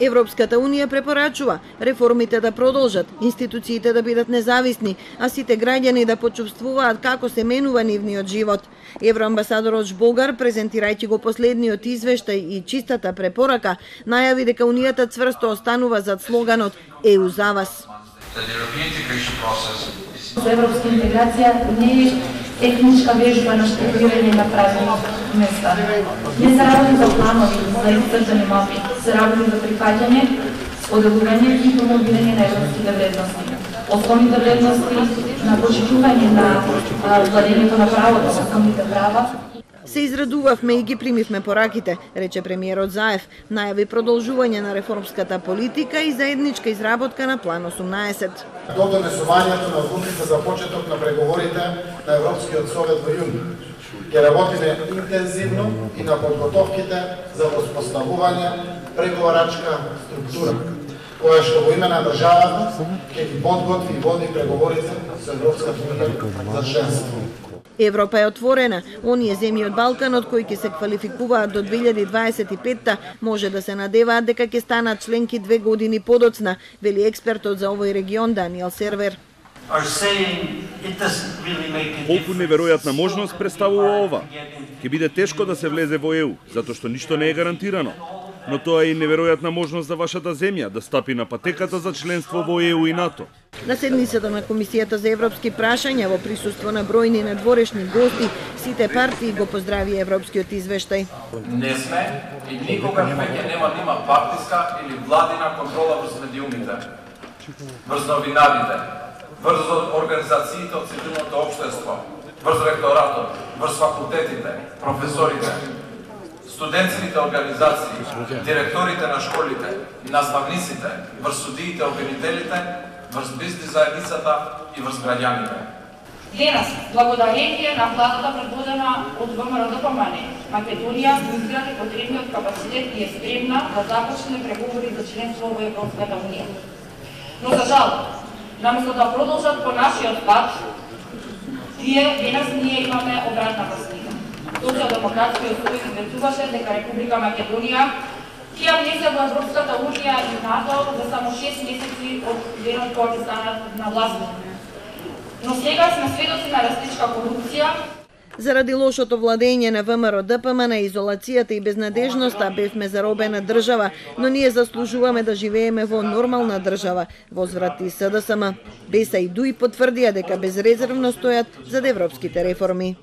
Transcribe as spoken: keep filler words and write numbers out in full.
Европската унија препорачува реформите да продолжат, институциите да бидат независни, а сите граѓани да почувствуваат како се менува нивниот живот. Евроамбасадорот Жбогар, презентирајќи го последниот извештај и чистата препорака, најави дека Унијата цврсто останува зад слоганот Е У за вас. Европска интеграција не е техничка вежба на штруктурирање на празни места. Не се работи за планови, за изцртани мапи, се работи за прифаќање, споделување и промовирање на европските вредности. Основните вредности на почитување на владењето на правото, основните права. Се израдувавме и ги примивме пораките, рече премиерот Заев, најави продолжување на реформската политика и заедничка изработка на план осумнаесет. До донесувањето на одлуките за почеток на преговорите на Европскиот совет во јуни. Ќе работиме интензивно и на подготовките за воспоставување преговарачка структура, која што во име на државата ќе ги подготви и води преговорите со Европската унија за членство. Европа е отворена. Оние земји од Балканот кои ќе се квалификуваат до две илјади дваесет и петта може да се надеваат дека ќе станат членки две години подоцна, вели експертот за овој регион Даниел Сервер. Колку неверојатна можност представува ова? Ќе биде тешко да се влезе во Е У, затоа што ништо не е гарантирано. Но тоа е и неверојатна можност за вашата земја да стапи на патеката за членство во Е У и НАТО. На седницата на Комисијата за европски прашања во присуство на бројни надворешни гости, сите партии го поздрави европскиот извештај. Не сме и никогаш веќе нема да има партиска или владина контрола врз медиумите, врз новинарите, врз организациите од цивилното општество, врз ректоратот, врз факултетите, професорите, студентските организации, директорите на школите, наставниците, врз судиите, обвинителите, врз бизнис заедницата и врз граѓаните. Денес, благодарение на владата предводена од ВМРО-ДПМН, Македонија изгради потребниот капацитет и е спремна да започне преговори за членство во Европската унија. Но за жал, наместо да продолжат по нашиот пат, тие денес ние имаме обратната слика. Социјалдемократскиот сојуз известуваше дека Република Македонија ќе влезе во Европската унија и НАТО за само шест месеци од денот кога ќе станат на власт. Но сега сме сведоци на растичка корупција. Заради лошото владење на ВМРО-ДПМН, изолацијата и безнадежноста бевме заробена држава, но ние заслужуваме да живееме во нормална држава, возврати СДСМ. Беса и Дуј потврдија дека безрезервно стојат зад европските реформи.